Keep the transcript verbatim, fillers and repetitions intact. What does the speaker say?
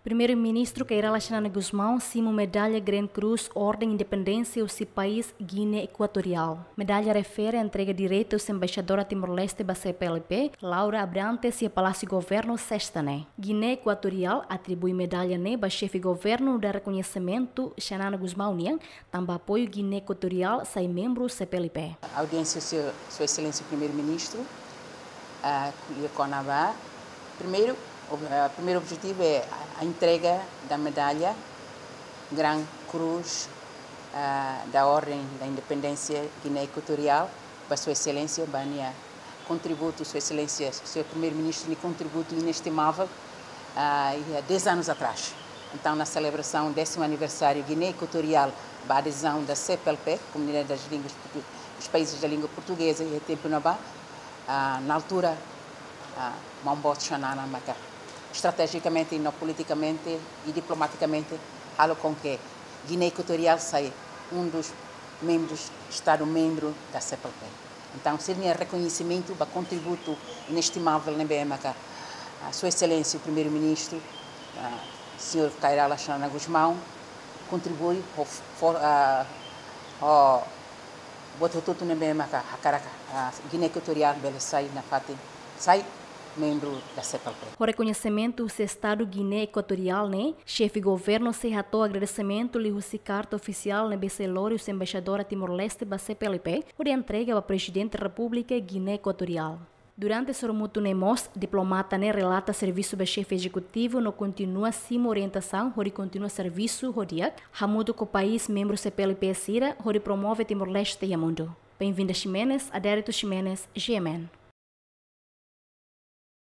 Primeiru-Ministru Kay Rala Xanana Gusmão simu medalla Grand Cross Orden Independénsia husi país Guiné Ekuatoriál. Medalla refere entrega diretu husi Embaixadora Timor-Leste ba C P L P, Laura Abrantes, iha Palásiu Governu, Sesta ne'e. Guiné Ekuatoriál atribui medalla ne'e ba Xefe Governu, dada rekoñesimentu Xanana Gusmão nian, tanba apoiu Guiné Ekuatoriál sai membru C P L P. Audiénsia Sua, Sua Exelénsia Primeiru-Ministru, ah, ko'alia kona-ba, primeiru, ob-, ah, primeiru objetivu é a, a entrega da medalla Grand Cross, ah, da Orden da Independência Guiné Equatorial ba Sua Exelénsia, ba nia kontributu, Sua Exelénsia, Señór Primeiru-Ministru, nia kontributu inestimável, ah, iha dez anos atrás. Entaun, na selebrasaun décimo aniversáriu Guiné Equatorial ba adezaun da C P L P, Comunidade das Línguas Portu-, dos Países da Língua Portuguesa, iha tempu ne'ebá, ah, na altura, ah, Maun Boot Xanana maka estrategicamente e não politicamente e diplomaticamente halo com que Guiné Equatorial sai um dos membros, Estado membro da C P L P. Entaun, sira-nia rekoñesimentu ba kontributu inestimável ne'ebé maka, ah, Sua Exelénsia Primeiru-Ministru, ah, Señór Kay Rala Xanana Gusmão, kontribui ho for-, ah, ho buat hotu-hotu ne'ebé maka hakarak, ah, Guiné Equatorial bele sai nafatin, sai membru da C P L P. Ho rekoñesimentu husi Estadu Guiné Ekuatoriál ne'e, Xefe Governu sei hato'o agradesimentu liuhusi karta ofisiál ne'ebé sei lori husi Embaixadora Timor-Leste ba C P L P, hodi entrega ba Prezidente Repúblika Guiné Ekuatoriál. Durante sorumutu ne'e mós, diplomata ne'e relata servisu ba Xefe Ezekutivu no kontinua simu orientasaun hodi kontinua servisu ho di'ak, hamutuk ho país membru C P L P sira, hodi promove Timor-Leste iha mundu. Benvinda Ximenes, Adérito Ximenes, G M N.